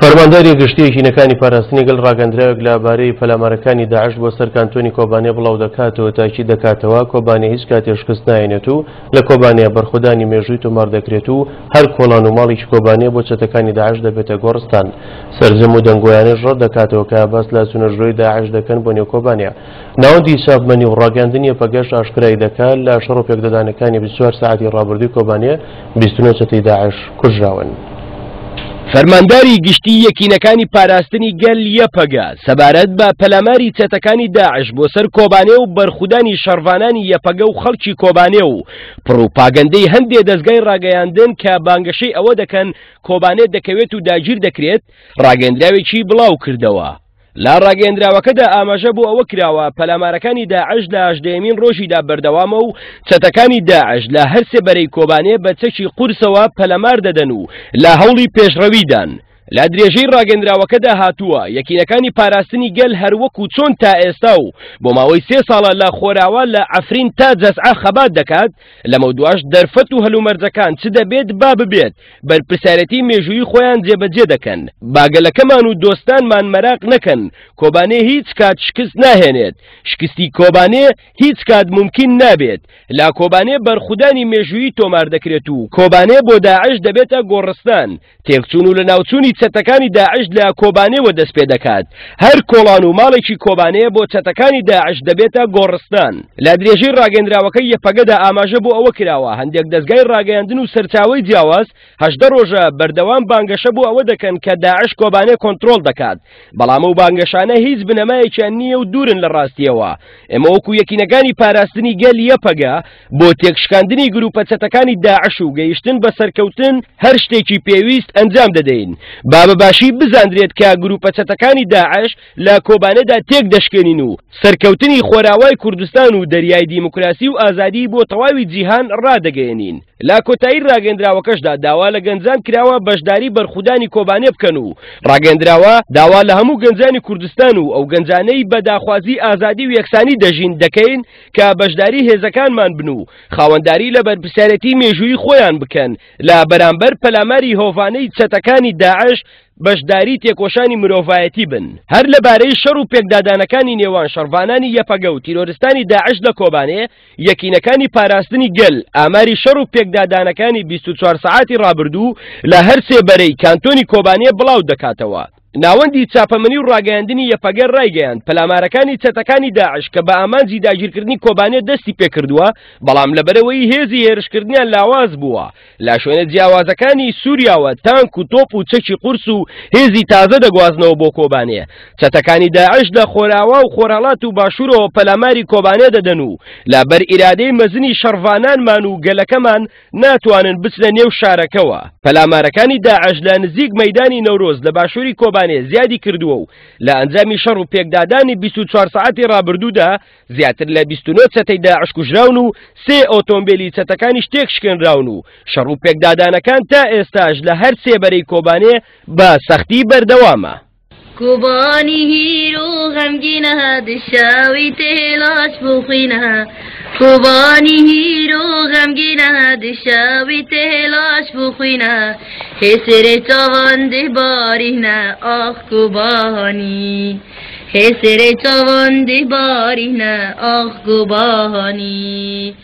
فەرمانداری گشتی یەکینەکانی پاراستنی گەل ڕاگەندراوێک لە بارەی پەلامارەکانی داعش بۆ سەر کانتۆنی کۆبانێ بڵاو دەکاتەوە، تاکید دەکاتەوە کۆبانێ هیچ کاتێ شکست نایەنێت و لە کۆبانێ بەرخودانی مێژووی تۆمار دەکرێت و هەر کۆڵان و ماڵێکی کۆبانێ بۆ چەتەکانی داعش دەبێتە گۆڕستان. سەرجەم و دەنگۆیانەش ڕەت دەکاتەوە کە باس لە چوونەژرۆی داعش دەکەن بۆ نێو کۆبانێ. ناوەندی چاپمەنی و ڕاگەیاندنی یەپەگەش ئاشکرای دەکات لە شەڕ و پێکدادانەکانی 24 سەعاتی ڕابردووی کۆبانێ 29 چەتەی داعش کوژراون. فەرمانداری گشتی یەکینەکانی پاراستنی گەل یەپەگە سەبارەت بە پەلاماری چەتەکانی داعش بۆ سەر کۆبانێ و بەرخودانی شەڕڤانانی یەپەگە و خەڵکی کۆبانێ و پڕوپاگەندەی هەندێ دەزگای ڕاگەیاندن کە بانگەشەی ئەوە دەکەن کۆبانێ دەکەوێت و داگیر دەکرێت ڕاگەندراوێکی بڵاو کردەوە. لە ڕاگەیەندراوەکەدا ئاماژە بۆ ئەوە کراوە، پەلامارەکانی داعش لە هەژدەیەمین ڕۆژیدا بەردەوامە و چەتەکانی داعش لە هەرسێ بەرەی کۆبانێ بە چەکی قورسەوە پەلامار دەدەن و لە هەوڵی پێشڕەویدان. لە درێژەی ڕاگەندراوەکەدا هاتووە، یەکینەکانی پاراستنی گەل هەروەکو چۆن تا ئێستا و بۆ ماوەی سێ ساڵە لە خۆراوا لە عەفرین تا جەزعە خەبات دەکات، لەمەودواش دەرفەت و هەلومەرجەکان چ دەبێت با ببێت، بەرپرسیارێتی مێژوویی خۆیان جێبەجێ دەکەن. با گەلەکەمان و دۆستانمان مەراق نەکەن، کۆبانێ هیچ کات شکست ناهێنێت. شکستی کۆبانێ هیچ کات مومکین نابێت. لە کۆبانێ بەرخودانی مێژوویی تۆمار دەکرێت و کۆبانێ بۆ داعش دەبێتە گۆڕستان. تێکچوون و لەناوچوونی چەتەکانی داعش لە کۆبانێوە دەست پێ دەکات. هەر کۆڵان و ماڵێکی کۆبانێ بۆ چەتەکانی داعش دەبێتە گۆڕستان. لە درێژەی ڕاگەندراوەکەی یەپەگەدا ئاماژە بۆ ئەوە کراوە، هەندێک دەزگای ڕاگەیاندن و سەرچاوەی جیاواز 18 ڕۆژە بەردەوام بانگەشە بۆ ئەوە دەکەن کە داعش کۆبانێ کۆنترۆڵ دەکات، بەڵام ئەو بانگەشانە هیچ بنەمایەکیان نییە و دوورن لە ڕاستییەوە. ئێمە وەکو یەکینەکانی پاراستنی گەل یەپەگە بۆ تێکشکاندنی گروپە چەتەکانی داعش و گەیشتن بە سەرکەوتن هەر شتێکی پێویست ئەنجام دەدەین. با بە باشی بزاندرێت کە گروپە چەتەکانی داعش لە کۆبانێدا تێک دەشکێنین و سەرکەوتنی خۆراوای کوردستان و دەریای دیموکراسی و ئازادی بۆ تەواوی جیهان ڕادەگەیەنین. لە کۆتایی ڕاگەندراوەکەشدا داوا لە گەنجان کراوە بەشداری بەرخودانی کۆبانێ بکەن و ڕاگەندراوە داوا لە هەموو گەنجانی کوردستان و ئەو گەنجانەی بە داخوازی ئازادی و یەکسانی دەژین دەکەین کە بەشداری هێزەکانمان بن و خاوەنداری لە بەرپرسیارێتی مێژوویی خۆیان بکەن لە بەرامبەر پەلاماری هۆڤانەی چەتەکانی داعش بەشداری تێکۆشانی مرۆڤایەتی بن. هەر لەبارەی شەڕ و پێکدادانەکانی نێوان شەڕڤانانی یەپەگە و تیرۆرستانی داعش لە کۆبانێ، یەکینەکانی پاراستنی گەل ئاماری شەڕ و پێکدادانەکانی 24 سەعاتی ڕابردوو لە هەر سێ بەرەی کانتۆنی کۆبانێ بڵاو دەکاتەوە. ناوەندی چاپەمەنی و ڕاگەیاندنی یەپەگە ڕایگەیاند، پەلامارەکانی چەتەکانی داعش کە بە ئامانجی داگیرکردنی کۆبانێ دەستی پێکردووە، بەڵام لەبەرئەوەی هێزی هێرشکردنیان لاواز بووە، لە شوێنە جیاوازەکانی سووریاوە تانک و تۆپ و چەکی قورس و هێزی تازە دەگوازنەوە بۆ کۆبانێ. چەتەکانی داعش لە خۆراوا و خۆرهەڵات و باشوورەوە پەلاماری کۆبانێ دەدەن و لە بەر ئیرادەی مەزنی شەڕڤانانمان و گەلەکەمان ناتوانن بچنە نێو شارەکەوە. پەلامارەکانی داعش لە نزیک مەیدانی نەورۆز لە باشووری کۆبانێ زیادی کردووە و لە ئەنجامی شەڕ و پێکدادانی 24 سەعاتی ڕابردوودا زیاتر لە 29 چەتەی داعش کوژراون و سێ ئۆتۆمبێلی چەتەکانیش تێکشکێنراون و شەڕ و پێکدادانەکان تا ئێستاش لە هەر سێ بەرەی کۆبانێ بە سەختی بەردەوامە. کۆبانی هیرو غەمگینە دشاوی تێلاش بخوینە کۆبانی هیرو غەمگینە دشاوی تێلاش بخوینە هێسرێ چاوان دبارینە ئاخ کۆبانی هێسرێ چاوان دبارینە ئاخ کۆبانی.